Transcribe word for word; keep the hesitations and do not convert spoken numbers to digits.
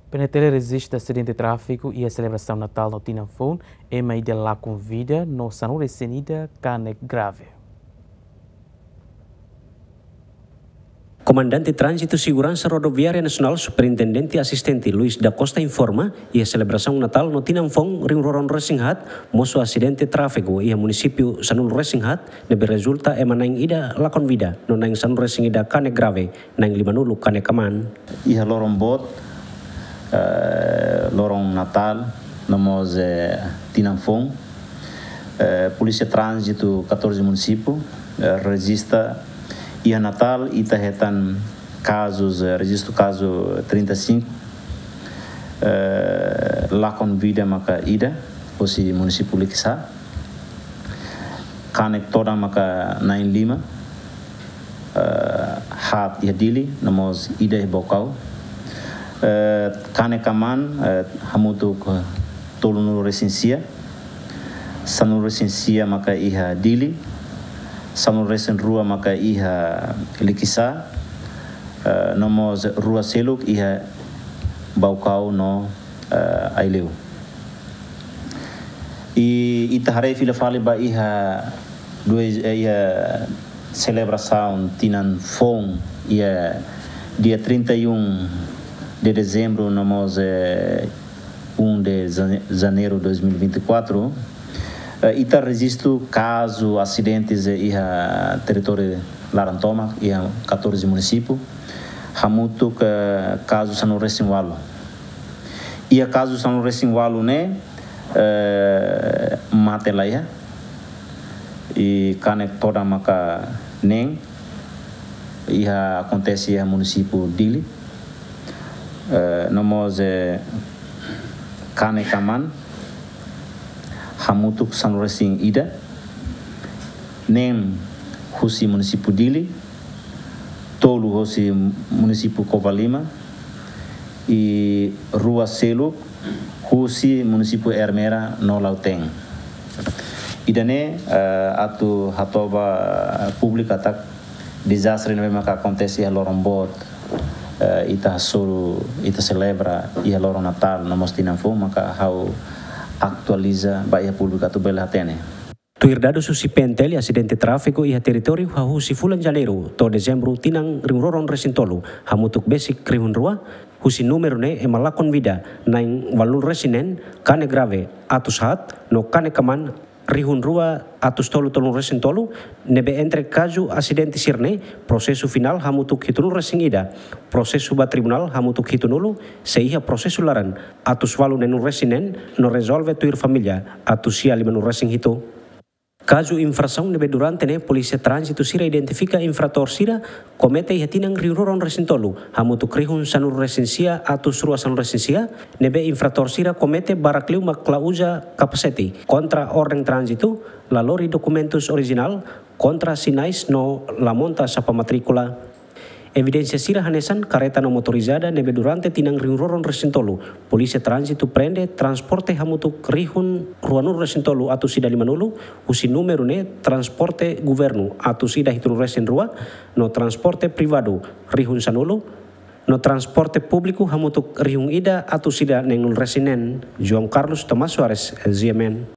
PNTL rejista asidente tráfiku iha selebrasaun Natál no tinan foun, ema ida lakon vida no sanulu-resin-ida kanek grave. Komandante Tránzitu Seguransa Rodoviária Nasionál, Superintendente Asistente Luis da Costa informa, iha selebrasaun Natál no tinan foun rihun rua ruanulu-resin-haat, mosu asidente tráfiku iha munisípiu sanulu-resin-haat, ne'ebé rezulta ema na'in ida lakon vida, no na'in sanulu-resin-ida kanek grave, na'in limanulu kanek aman. Iha loron boot, eh, loron Natál, no mós, eh, tinan foun, eh, Polísia Tránzitu katorze munisípiu, eh, rejista iha Natál, ita hetan kazus, eh, rejistu kazu trinta e sinku, eh, lakon vida maka ida, hosi munisípiu Likisá. Kanek todan maka na'in lima, eh, haat iha Dili, no mós ida iha Baucau. Eh, kanek aman, eh, hamutuk tolunulu-resin-sia, sanulu-resin-sia maka iha Dili, sanulu-resin-rua maka iha Likisá, eh, no mós rua seluk iha Baucau no, eh, Aileu. I ita haree fila fali ba iha duas, eh, iha selebrasaun tinan foun iha dia trinta e um de dezembro, no mós, eh, um de jane-, janeiro dois mil e vinte e quatro, eh, ita rejistu kazu asidentes, eh, iha territóriu laran tomak, iha katorze munisípiu, hamutuk kazu sanulu-resin-ualu. Iha kazu sanulu-resin-ualu ne'e, eh, mate laiha, i kanek todan maka neen, iha akontese iha munisípiu Dili, eh, no mós, eh, kanek aman, hamutuk sanulu-resin-ida, neen husi munisípiu Dili, tolu husi munisípiu Covalima, i rua seluk husi munisípiu Ermera no Lautém. Ida-ne'e, eh, atu hato'o ba públiku katak dezastre ne'ebé maka akontese iha loron boot, eh, ita hasoru, ita selebra iha loron Natál no mós tinan foun, maka ha'u atualiza ba iha públiku atu bele hatene. Tuir dadus husi PNTL, asidente tráfiku iha territóriu hahú husi fulan Janeiru to'o Dezembru tinan rihun rua ruanulu-resin-tolu, hamutuk besik rihun rua, husi númeru ne'e ema lakon vida na'in ualunulu-resin-neen, kanek grave atus haat, no kanek aman rihun rua atus tolu tolunulu-resin-tolu, ne'ebé entre kazu asidente sira-ne'e, prosesu finál hamutuk hitunulu-resin-ida, prosesu ba tribunál hamutuk hitunulu, sei iha prosesu laran atus ualu neenulu-resin-neen, no rezolve tuir família atus sia limanulu-resin-hitu. Kazu infrasaun ne'ebé durante ne'e Polísia Tránzitu sira identifika infratór sira komete iha tinan rihun rua ruanulu-resin-tolu, hamutuk rihun sanulu-resin-sia atus rua sanulu-resin-sia, ne'ebé infratór sira komete barak liu mak la uza kapasete, kontra orden tránzitu, la lori dokumentus orijinál, kontra sinais no la monta sapa matríkula. Evidénsia sira hanesan kareta no motorizada ne'ebé durante tinan rihun rua ruanulu-resin-tolu, Polísia Tránzitu prende transporte hamutuk rihun ruanulu-resin-tolu atus ida limanulu, husi númeru ne'e transporte governu atus ida hitunulu-resin-rua, no transporte privadu rihun sanulu, no transporte públiku hamutuk rihun ida atus ida neenulu-resin-neen. João Carlos Tomás Soares, G M N.